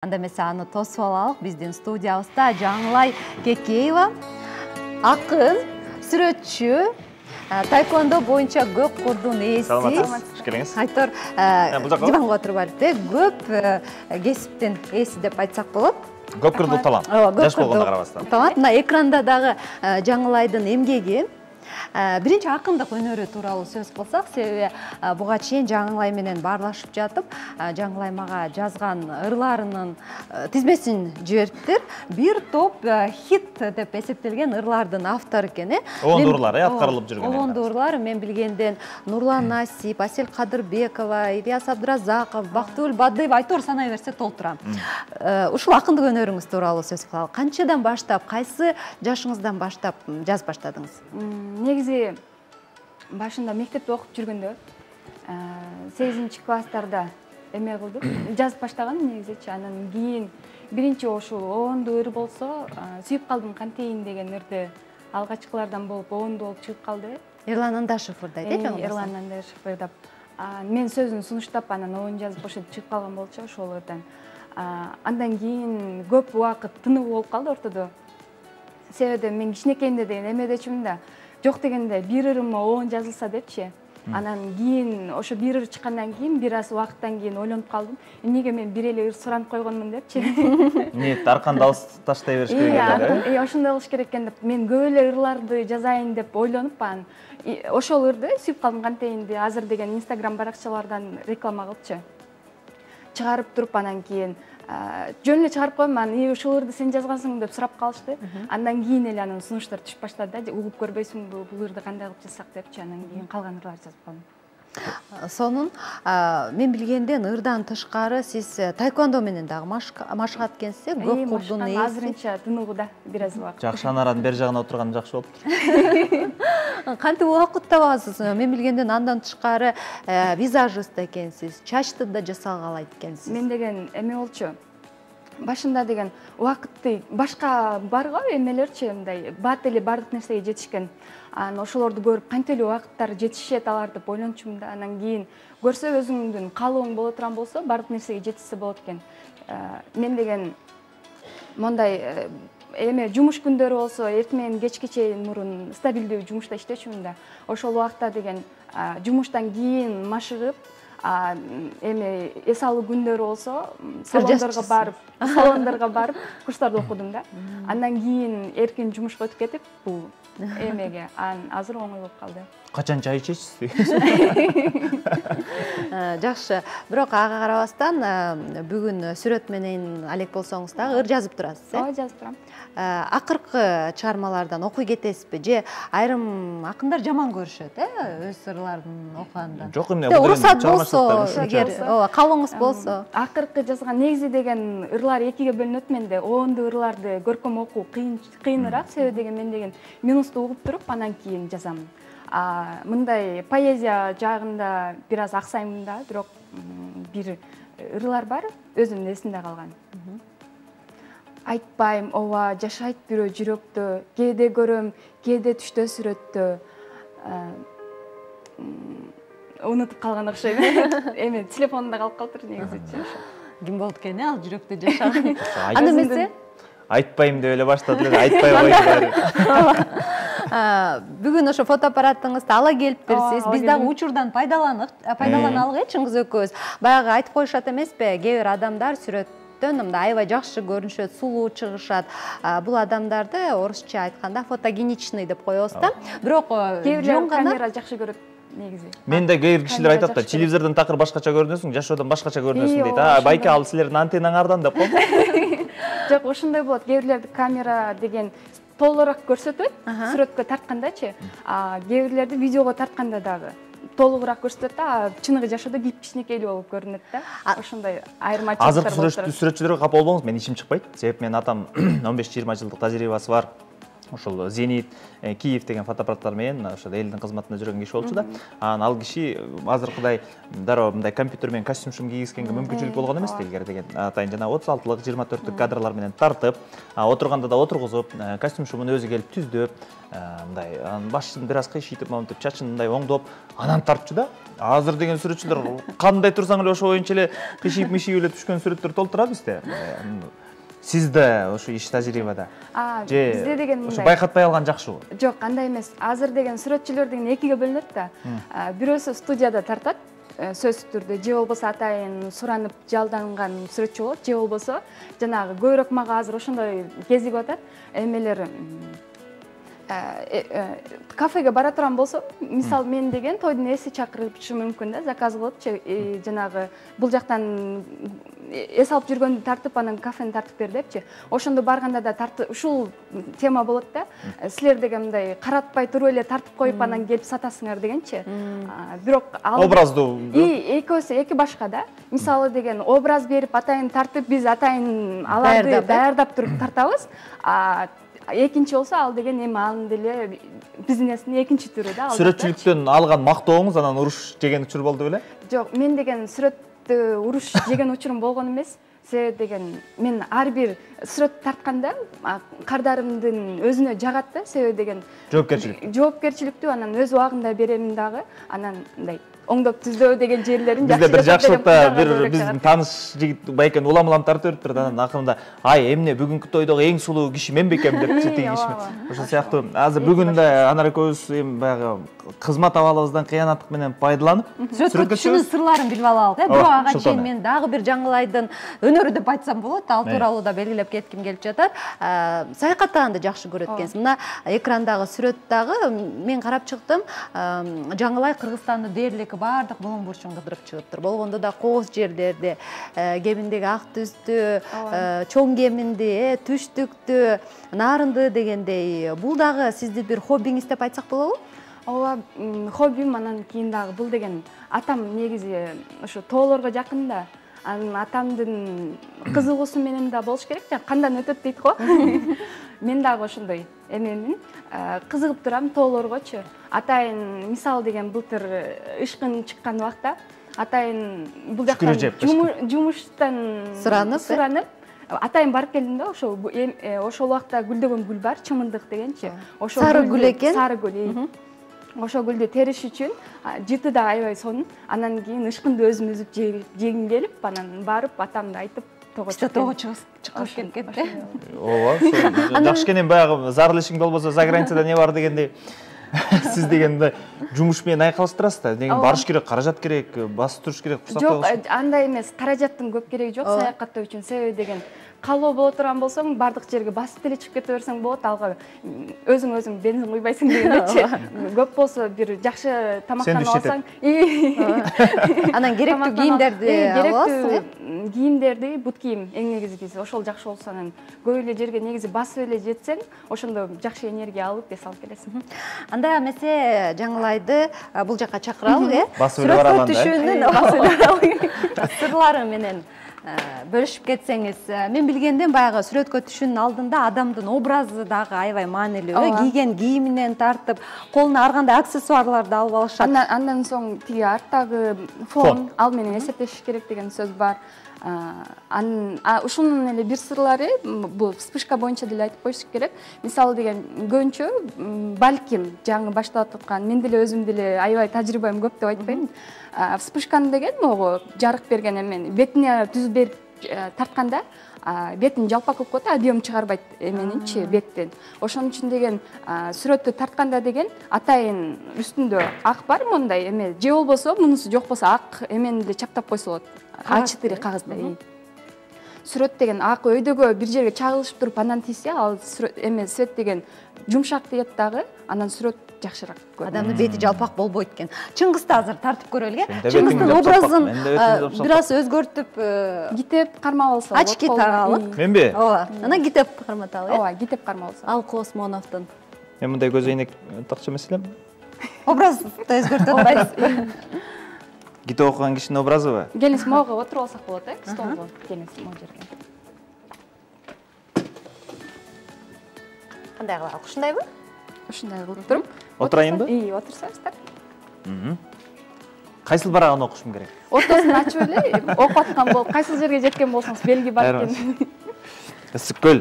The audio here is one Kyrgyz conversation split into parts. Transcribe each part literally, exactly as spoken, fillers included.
Анда эмесе аны тосуп алалык. Биздин студиябызда Жаңылай Кекеева, акын, сүрөтчү, тайквондо боюнча көк курдун ээси. Саламатсыз, хош келиңиз. Айтор диванга отуруп алып, көп кесиптин ээси деп айтсак болот. Көп курдуу талант. Жаш болгонго карабастан. Талант. Мына экранда дагы Жаңылайдын эмгеги. Биринчи акындык өнөрү тууралуу сөз кылсак, себеби буга чейин Жаңылай менен баарлашып жатып, Жаңылай мага жазган ырларынын тизмесин жибериптир. Бир топ хит деп эсептелген ырлардын автору экен, э? Оонду ырлар, э, аткарылып жүргөн. Оонду ырлар мен билгенден Нурлан Насип, Асель Кадырбекова, Ильяс Абдразаков, Бактыгүл Бадыева айтор санай берсе толтурам. Ушул акындык өнөрүңүз тууралуу сөз кылалы. Канчадан баштап, кайсы жашыңыздан баштап жазып баштадыңыз? Негизи башында мектепте окуп жүргөндө сегизинчи класстарда эме кылдым, жазып баштаган негизичи. Анан кийин биринчи ошол оонду ыр болсо, сүйүп калдым кантейин деген ырды алгачкылардан болуп оонду болуп чыгып калды. Эрлан Андашев ырдайт, э, жаңы? Эрлан Андашев ырдап, мен сөзүн сунуштап, анан оон жазып ошентип чыгып калган болчу ошол ырдан. Андан кийин көп убакыт тынык болуп калды ортодо. Себеби мен кичинекейимде деген эмедечүмүн да. Жок дегенде бир ырыма оон жазылса депчи. Анан кийин ошо бир ыр чыккандан кийин бир аз убакыттан кийин ойлонуп калдым. Эмнеге мен бир эле ыр суранып койгонмун депчи. Нет, арканды алыс таштай бериш керек эле. Э, ошондой кылыш керек экен деп мен көп эле ырларды жазайын деп ойлонуп анан ошол ырды сүйүп калдым кантейинди азыр деген Instagram баракчалардан реклама кылыпчы. Чыгарып туруп анан кийин жөн эле чыгарып коем, анан ушул ырды сен жазгансың деп сурап калышты. Андан кийин эле анын сунуштары түшүп баштады да, угуп көрбөйсүңбү бул ырды кандай кылып жазсак депчи. Анан кийин калган ырларды жазып калдым. Сонун мен билгенден ырдан тышкары сиз тайквондо менен дагы машыгат экенсиз, э? Көк курдун ээси. Азырынча тыныгууда бир аз убакыт. Жакшы, анаранын бери жагына отурган жакшы болуптур. Кантип убакыт табасыз? Мен билгенден андан тышкары визажист экенсиз, чачты да жасалгалайт экенсиз. Мен деген эме болчу. Башында деген убакытты башка бар го эмелерчи, мындай бат эле бардык нерсеге жетишкен. Анан ошолорду көрүп кантип эле убакыттары жетишет алар деп ойлончумун да. Анан кийин көрсө өзүңдүн каалооң боло турган болсо бардык нерсеге жетишсе болот экен. Мен деген мондай эме жумуш күндөрү болсо эртең менен кечке чейин мурун стабилдүү жумушта иштечүмүн да. Ошол убакта деген жумуштан кийин машыгып, эме эс алуу күндөрү болсо салондорго барып, салондорго барып курстарды окудум да. Андан кийин эркин жумушка өтүп кетип, бул эмеге анан азыр оңой болуп калды. Качан чай ичесиз? Жакшы, бирок ага карабастан бүгүн сүрөт менен алек болсоңуз дагы ыр жазып турасыз, э? Ооба, жазып турам. Акыркы чыгармалардан окуй кетесизби же айрым акындар жаман көрүшөт, э, өз ырларын окуганда? Жок, эмне уруксат болсо, эгер ооба каалооңуз болсо. Акыркы жазган негизи деген ырлар экиге бөлүнөт менде. Оонду ырларды көркөм окуу кыйыныраак, себеби деген мен деген минусту угуп туруп анан кийин жазам. Мындай поэзия жагында бир аз аксаймын да, бирок бир ырлар бар, өзүмдүн эсимде калган. Айтпайм, ооба, жашайт бирөө жүрөктө, кээде көрөм, кээде түштө сүрөттө. Унутуп калган окшойм. Эме телефонумда калып калыптыр негизичи. Ким болот экен, ал жүрөктө жашаган? Анда эмесе айтпайм деп эле баштады эле, айтпай койду. Бүгүн ошо фотоаппаратыңызды ала келипсиз. Биз дагы учурдан пайдаланалы, чыңгыз экөөбүз. Баягы айтып коюшат эмеспи? Кээ бир адамдар сүрөттөн мындай аябай жакшы көрүнүшөт, сулуу чыгышат. Бул адамдарды орусча айтканда фотогеничный деп коебуз да. Бирок кээ бир камера жакшы көрөт негизи. Мен да кээ бир кишилер айтат да, телевизордон такыр башкача көрүнөсүң, жашоодон башкача көрүнөсүң дейт. А, байке ал силердин антеннаңардан деп коем. Жок, ошондой болот. Кээ бирлерди камера деген толураак көрсөтөт, сүрөткө тарткандачы. А кээ бирлерди видеого тартканда дагы толугураак көрсөтөт да, чыныгы жашоодо кип кичинекейлүү болуп көрүнөт да. Ошондой айырмачылыктар болот. Азыр сүрөтчүлөргө капа болбоңуз, мен ишим чыкпайт. Себеп мен атам он беш жыйырма жылдык тажрыйбасы бар. ошол Зенит, Киев деген фотоаппараттар менен ошо элдин кызматында жүргөн киши болчу да. Анан ал киши азыркыдай дароо мындай компьютер менен костюм шум кийгизгенге мүмкүнчүлүк болгон эмес да илгери деген. Атайын жана отуз алтылык, жыйырма төрттүк кадрлар менен тартып, отурганда да отургузуп, костюм шумун өзү келип түздүп, мындай анан башын бир аз кыйшыйтып, монтип, чачын мындай оңдоп, анан тартчу да. Азыр деген сүрөтчүлөр кандай турсаң эле ошо боюнча эле кыйшыйып-мыйшыйып эле түшкөн сүрөттөр толтура бизде. Сизде ошо иш тажрыйбада же бизде деген мындай ошо байкатпай алган жакшыбы? Жок, андай эмес. Азыр деген сүрөтчүлөр деген экиге бөлүнөт да. Бирөөсү студияда тартат, сөзсүз түрдө, же болбосо атайын суранып жалданган сүрөтчү болот, же болбосо жанагы көбүрөөк мага азыр ошондой кезигип атат. Эмелер кафеге бара турган болсом, мисалы мен деген тойдун эси чакырышы мүмкүн да, заказ кылыпчы, жанагы бул жактан эс алып жүргөндү тартып, анан кафени тартып бер депчи. Ошондо барганда да тартып, ушул тема болот да. Силер деген мындай каратпай туруп эле тартып коюп, анан келип сатасыңар дегенчи. Бирок образдуу. Экөөсү эки башка да. Мисалы деген образ берип, атайын тартып, биз атайын аларды даярдап туруп тартабыз. Экинчи болсо ал деген эми анын деле бизнестин экинчи түрү да. Сүрөтчүлүктөн алган мактооңуз анан уруш жеген учур болду беле? Жок, мен деген сүрөттө уруш жеген учурум болгон эмес. Себеби деген мен ар бир сүрөт тартканда кардарымдын өзүнө жагат да, себеби деген жоопкерчилик. Жоопкерчиликтүү анан өз убагында беремин дагы, анан мындай оңдоп түздөө деген жерлерин жакшы. Бизде бир жакшылыкта бир биздин тааныш жигит байкен улам-улам тартып бериптир да, анан акырында ай эмне бүгүнкү тойдогу эң сулуу киши мен бекем деп тиги киши. Ошол сыяктуу азыр бүгүн да анар экөөбүз эми баягы кызмат абалыбыздан кыянаттык менен пайдаланып сүрөткө түшүүнүн сырларын билип алалык э. Бирок ага чейин мен дагы бир Жаңылайдын өнөрү деп айтсам болот, ал тууралуу да белгилеп кетким келип жатат. Саякаттаганды жакшы көрөт экенсиз. Мына экрандагы сүрөт дагы мен карап чыктым. Жаңылай Кыргызстандын дээрлик баардык булуң бурчун кыдырып чыгыптыр. Болгондо да кооз жерлерди, кеминдеги ак түстү, чоң кеминди, түштүктү, нарынды дегендей. Бул дагы сиздин бир хоббиңиз деп айтсак болобу? Ооба, хоббим. Анан кийин дагы бул деген атам негизи ошо тоолорго жакын да. Анан атамдын кызыгуусу менен да болуш керек, жана кандан өтөт дейт го. Мен дагы ошондой эмемин, кызыгып турам тоолоргочу. Атайын мисал деген былтыр ышкын чыккан убакта атайын бул жактан жумуштан суранып, суранып атайын барып келдим да, ошо ошол убакта гүлдөгөн гүл бар, чымындык дегенчи. Ошо сары гүл экен. Сары гүл. Ошо гүлдү териш үчүн жыты да аябай сонун. Анан кийин ышкынды өзүм үзүп жегим келип, анан барып атамды айтып того чыккан. Того чыгып кеткен да. Ооба, жакшы кенен баягы зарыл ишиң болбосо за границада не бар дегендей. Сиз дегенде жумуш менен айкалыштырасыз да. Деген барыш керек, каражат керек, басып туруш керек, курсактагы. Жок, андай эмес. Каражаттын көп кереги жок саякаттоо үчүн. Себеби деген калоо боло турган болсоң, бардык жерге басып деле чыгып кете берсең болот, алга өзүң өзүң бензин куйбайсың дегендечи. Көп болсо бир жакшы тамактанып алсаң, анан керектүү кийимдерди аласың. Кийимдерди, бут кийим эң негизгиси ошол жакшы болсо, анан көп эле жерге негизи басып эле жетсең, ошондо жакшы энергия алып эс алып келесиң. Анда эмесе Жаңылайды бул жакка чакыралык, э? Басып эле барганда. Түшүүнүн сырлары менен бөлүшүп кетсеңиз. Мен билгенден баягы сүрөткө түшүүнүн алдында адамдын образы дагы аябай маанилүү. Кийген кийиминен тартып, колуна ар кандай аксессуарларды алып алышат. Андан соң тиги арттагы фон, ал менен эсептешиш керек деген сөз бар. Ушунун эле бир сырлары, бул вспышка боюнча деле айтып коюш керек. Мисалы деген көбүнчө балким жаңы баштап аткан, мен деле өзүм деле аябай тажрыйбам көп деп айтпайм. Вспышканы деген могу жарык берген эмен бетине түз берип тартканда бетин жалпак кылып коет, объем чыгарбайт эменинчи беттен. Ошон үчүн деген сүрөттү тартканда деген атайын үстүндө ак бар мондай эме, же болбосо мунусу жок болсо ак эмени деле чаптап койсо болот. а четыре кагазда. Сүрөт деген ак өйдөгө бир жерге чагылышып туруп анан тийсе, ал эме свет деген жумшак тиет дагы, анан сүрөт жакшыраак. Адамдын бети жалпак болбойт экен. Чыңгызды азыр тартып көрөлү. Чыңгыздын образын бир аз өзгөртүп, китеп кармап алса болот. Очки тагалык. Менби? Ооба. Анан китеп карматалы. Ооба, китеп кармап алса. Ал Космоновдун. Мен мындай көз айнек такчы эмес элем. Образды өзгөртөт атпайсыз. Китеп окуган кишинин образыбы? Келиңиз, могу отуруп алсак болот, э? Столго. Келиңиз, могу жерге. кандай кылалы? Ушундайбы? Ушундай кылып туруп. Отурайынбы? Ии, отурсаңыздар. Кайсыл барагын окушум керек? Ортосун ачып эле окуп аткан болуп, кайсыл жерге жеткен болсоңуз белги бар экен. Ысык көл.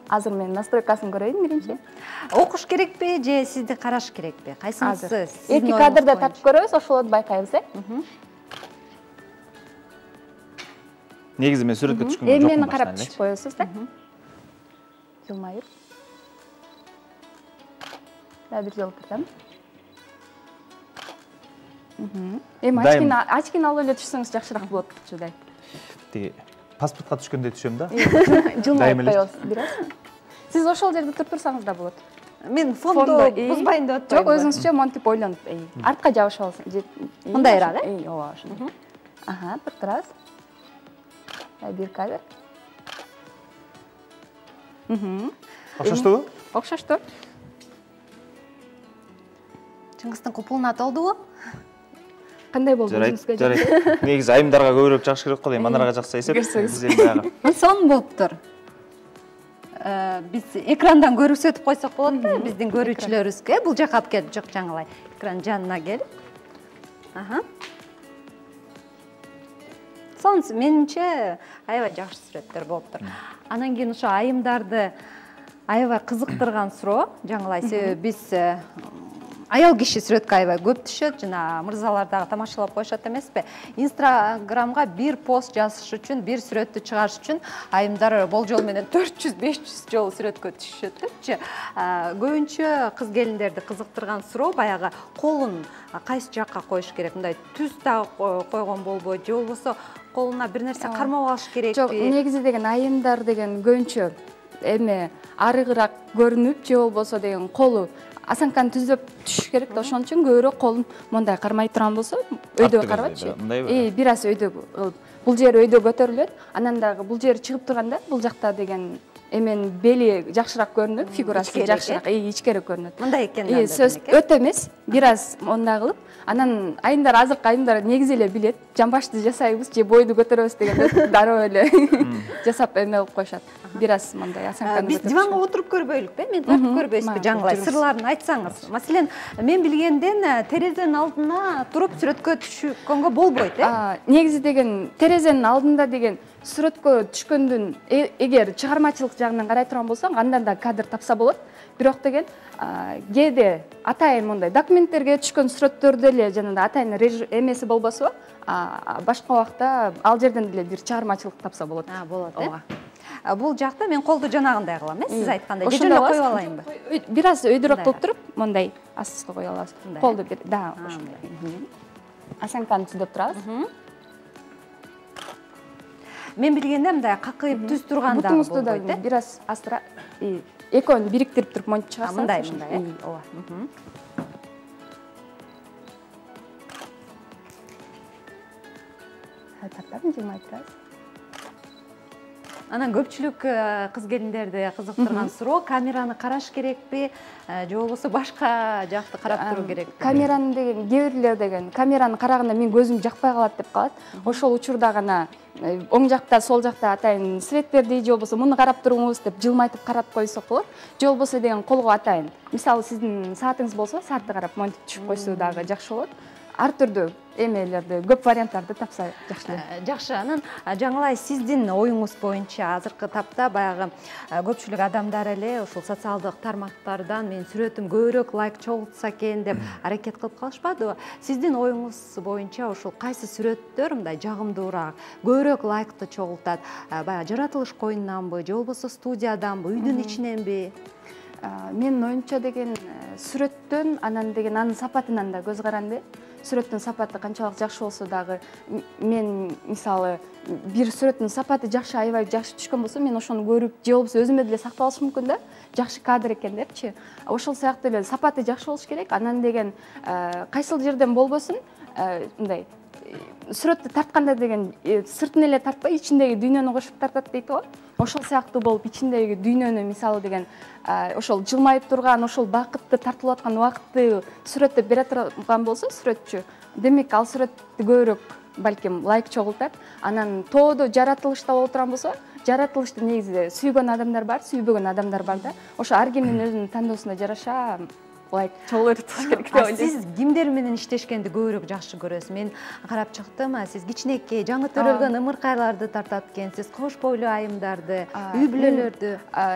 Азыр мен настройкасын көрөйүн биринчи. Окуш керекпи же сизди караш керекпи? Кайсынысы? Эки кадрда тартып көрөбүз, ошолорду байкайбыз, э? Негизи мен сүрөткө түшкөнгө Эми жокмун. мени карап түшүп коесуз да. Жылмайып. Да бир жолу турдам. Эми очкини очкини алып эле түшсөңүз жакшыраак болот чудай. Тиги паспортко түшкөндөй түшөм да. Жылмайып коебуз бир аз. Сиз ошол жерде туруп турсаңыз да болот. Мен фондо бузбайын деп атпаймынбы? Жок, өзүңүзчө монтип ойлонуп, артка жабышып алсаңыз. Мындайраак, э? Ооба, ошондой. Аха, туруп турабыз. Бир кадр. Окшоштубу? Окшошту. Чыңгыздын купулуна толдубу? Кандай болду өзүңүзгө? Жарайт. Негизи айымдарга көбүрөөк жакшы керек го дейм. Манарга жакса эсеп. Биз эми баягы. Сонун болуптур. Биз экрандан көрсөтүп койсок болот да, биздин көрүүчүлөрүбүзгө. Бул жака алып келип, жок жаңылай. Экран жанына келип. Аха. Сонун, менимче аябай жакшы сүрөттөр болуптур. Анан кийин ошо айымдарды аябай кызыктырган суроо, жаңылай, себеби биз аял киши сүрөткө аябай көп түшөт, жана мырзалар дагы тамашалап коюшат эмеспи? Инстаграмга бир пост жазыш үчүн, бир сүрөттү чыгарыш үчүн айымдар болжол менен төрт жүз беш жүз жолу сүрөткө түшүшөтчү. Көбүнчө кыз келиндерди кызыктырган суроо баягы колун кайсы жакка коюш керек? Мындай түз дагы койгон болбойт, же болбосо колуна бир нерсе кармап алыш керекпи? Жок, негизи деген айымдар деген көбүнчө эми арыгыраак көрүнүп, же болбосо деген колу асанканы түзөп түшүш керек да, ошон үчүн көбүрөөк колун мондай кармай турган болсо, өйдө карабачы. Э, бир аз өйдө бул жери өйдө көтөрүлөт, анан дагы бул жери чыгып турганда, бул жакта деген эменин бели жакшыраак көрүнөт, фигурасы жакшыраак, э, ичкери көрүнөт. Мындай экен. Э, сөз өтө эмес, бир аз мондай кылып, анан айымдар, азыркы айымдар негизи эле билет, жамбашты жасайбыз же бойду көтөрөбүз деген дароо эле жасап эме кылып коюшат. Бир аз мондай асанканы. Биз диванга отуруп көрбөйлүкпү, мен тартып көрбөйсүзбү, жаңылай, сырларын айтсаңыз. Маселен, мен билгенден терезенин алдына туруп сүрөткө түшкөнгө болбойт, э? Негизи деген терезенин алдында деген сүрөткө түшкөндүн эгер чыгармачылык жагынан карай турган болсоң, андан да кадр тапса болот. Бирок деген кээде атайын мондай документтерге түшкөн сүрөттөрдө эле жанагындай атайын эмеси болбосо, башка убакта ал жерден деле бир чыгармачылык тапса болот. А, болот, э? Бул жакта мен колду жанагындай кылам, э, сиз айткандай. Же эле коюп алайынбы? Бир аз өйдөрөөк болуп туруп, мондай астыга коюп алабыз. Колду бир, да, ошондой. Асанканы түзөп турабыз. Мен билгенде мындай какыйып түз турганда бутуңузду да бир аз астыра, экөөнү бириктирип туруп монтип чыгарсаңыз. Мындай, мындай, э? Ооба. Тартам, жылмай турабыз. Анан көпчүлүк кыз келиндерди кызыктырган суроо, камераны караш керекпи, же болбосо башка жакты карап туруу керекпи? Камераны деген, кээ бирлер деген камераны караганда мен көзүм жакпай калат деп калат. Ошол учурда гана оң жакта, сол жакта атайын свет берди, же болбосо муну карап туруңуз деп жылмайтып карап койсок болот. Же болбосо деген колго атайын. Мисалы сиздин саатыңыз болсо, саатты карап монтип түшүп койсо дагы жакшы болот. Ар түрдүү эмелерди, көп варианттарды тапса жакшы. Жакшы, анан жаңылай, сиздин оюңуз боюнча азыркы тапта баягы көпчүлүк адамдар эле ушул социалдык тармактардан менин сүрөтүм көбүрөөк лайк чогултса экен деп аракет кылып калышпадыбы? Сиздин оюңуз боюнча ушул кайсы сүрөттөр мындай жагымдуураак, көбүрөөк лайкты чогултат? Баягы жаратылыш коюнунанбы, же болбосо студияданбы, үйдүн ичиненби? Менин оюмча деген сүрөттөн, анан деген анын сапатынан да көз каранды. Сүрөттүн сапаты канчалык жакшы болсо дагы, мен мисалы бир сүрөттүн сапаты жакшы, аябай жакшы түшкөн болсо, мен ошону көрүп, же болбосо өзүмө деле сактап алышым мүмкүн да, жакшы кадр экен депчи. Ошол сыяктуу эле сапаты жакшы болуш керек. Анан деген кайсыл жерден болбосун, мындай сүрөттү тартканда деген сыртын эле тартпай, ичиндеги дүйнөнү кошуп тартат дейт го. Ошол сыяктуу болуп, ичиндеги дүйнөнү мисалы деген ошол жылмайып турган, ошол бакытты тартылып аткан убакытты сүрөттөп бере турган болсо сүрөтчү, демек ал сүрөттү көбүрөөк балким лайк чогултат. Анан тоодо жаратылышта боло турган болсо, жаратылышты негизи сүйгөн адамдар бар, сүйбөгөн адамдар бар да. Ошо ар кимдин өзүнүн тандоосуна жараша ылайык чогуу өтүш керек деп ойлойм. Сиз кимдер менен иштешкенди көбүрөөк жакшы көрөсүз? Мен карап чыктым, сиз кичинекей, жаңы төрөлгөн ымыркайларды тартат экенсиз, кош бойлуу айымдарды, үй бүлөлөрдү.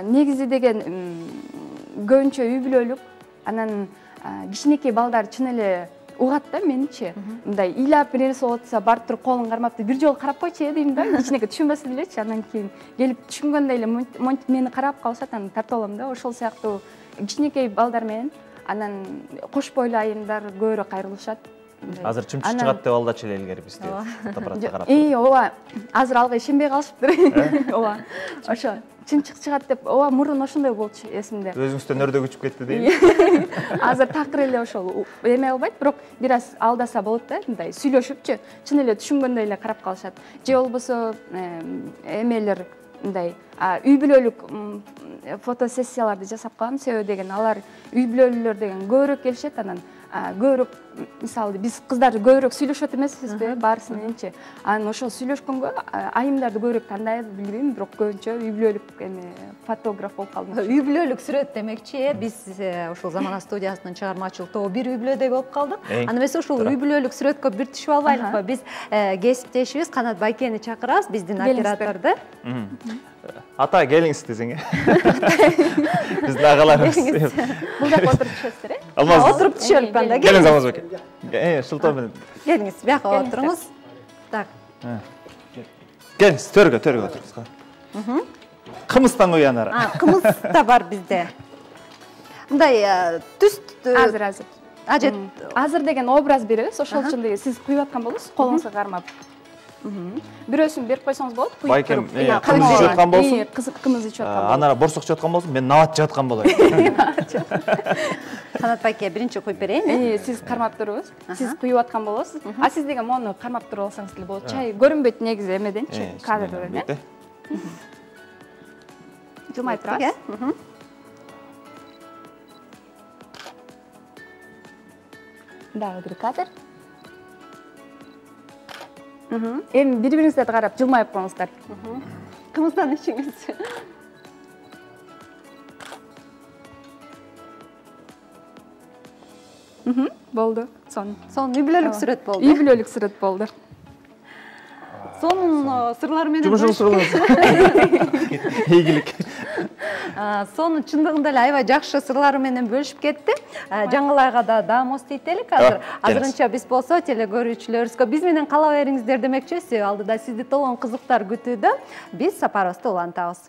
Негизи деген көбүнчө үй бүлөлүк, анан кичинекей балдар чын эле угат да меничи. Мындай ыйлап бир нерсе болуп атса, барып туруп колун кармап, бир жолу карап койчу дейм да. Кичинекей түшүнбөсө делечи, анан кийин келип түшүнгөндөй эле монтип мени карап калышат, анан тартып алам да. Ошол сыяктуу кичинекей балдар менен, анан кош бойлуу айымдар көбүрөөк кайрылышат. Азыр чымчык чыгат деп алдачу эле илгери бизде фотоаппаратка карап. Ии, ооба. Азыр алга ишенбей калышыптыр. Ооба. Ошо чымчык чыгат деп, ооба, мурун ошондой болчу эсимде. Өзүңүздөн өрдө күчүп кетти дейм. Азыр такыр эле ошол эме кылбайт, бирок бир аз алдаса болот да, мындай сүйлөшүпчү, чын эле түшүнгөндөй эле карап калышат. Же болбосо эмелер мындай үй бүлөлүк фотосессияларды жасап калам, себеби деген алар үй бүлөлүүлөр деген көбүрөөк келишет, анан көбүрөөк, мисалы биз кыздар көбүрөөк сүйлөшөт эмеспизби, баарысы мененчи. Анан ошол сүйлөшкөнгө айымдарды көбүрөөк тандайбыз, билбейм, бирок көбүнчө үй бүлөлүк эме фотограф болуп калдым. Үй бүлөлүк сүрөт демекчи, биз ошол Замана студиясынын чыгармачылык тобу бир үй бүлөдөй болуп калдык. Аны эмесе ошол үй бүлөлүк сүрөткө бир түшүп албайлыкпы? Биз кесиптешибиз Канат Байкени чакырабыз, биздин операторду. Ата, келиңиз десең. Биздин агаларыбыз. Бул жакка отуруп түшөсүздөр, э? Алмаз. Отуруп түшөлүп анда. Келиңиз Алмаз беке. Э, шылтоо менен. Келиңиз, бияка отуруңуз. Так. Келиңиз, төргө, төргө отуруңуз. Кымыздан куян ара. А, кымыз да бар бизде. Мындай түс азыр азыр. Ажет. Азыр деген образ беребиз, ошол үчүн деген сиз куюп аткан болосуз, колуңузга кармап. Бирөөсүн берип койсоңуз болот. Байкем кымыз ичип аткан болсун. Кызык кымыз ичип аткан болсун. Анара борсок ичип аткан болсун, мен нават ичип аткан болоюн. Канат байке биринчи куюп берейин. Сиз кармап туруңуз. Сиз куюп аткан болосуз. А сиз деген мону кармап туруп алсаңыз деле болот. Чай көрүнбөйт негизи эмеденчи, кадрден, э? Жылмай турасыз. Дагы бир кадр. Эми бири-бириңиздерди карап жылмайып коюңуздар. Кымыздан ичиңиз. Болду. Сон. Сон үй бүлөлүк сүрөт болду. Үй бүлөлүк сүрөт болду. Сонун сырлары менен жумушуңузду кылыңыз. Ийгилик. Сонун чындыгында эле аябай жакшы сырлары менен бөлүшүп кетти. Жаңылайга да даамос дейт элек азыр. Азырынча биз болсо телекөрүүчүлөрүбүзгө биз менен кала бериңиздер демекчи, алдыда сизди толгон кызыктар күтүүдө. Биз сапарыбызды улантабыз.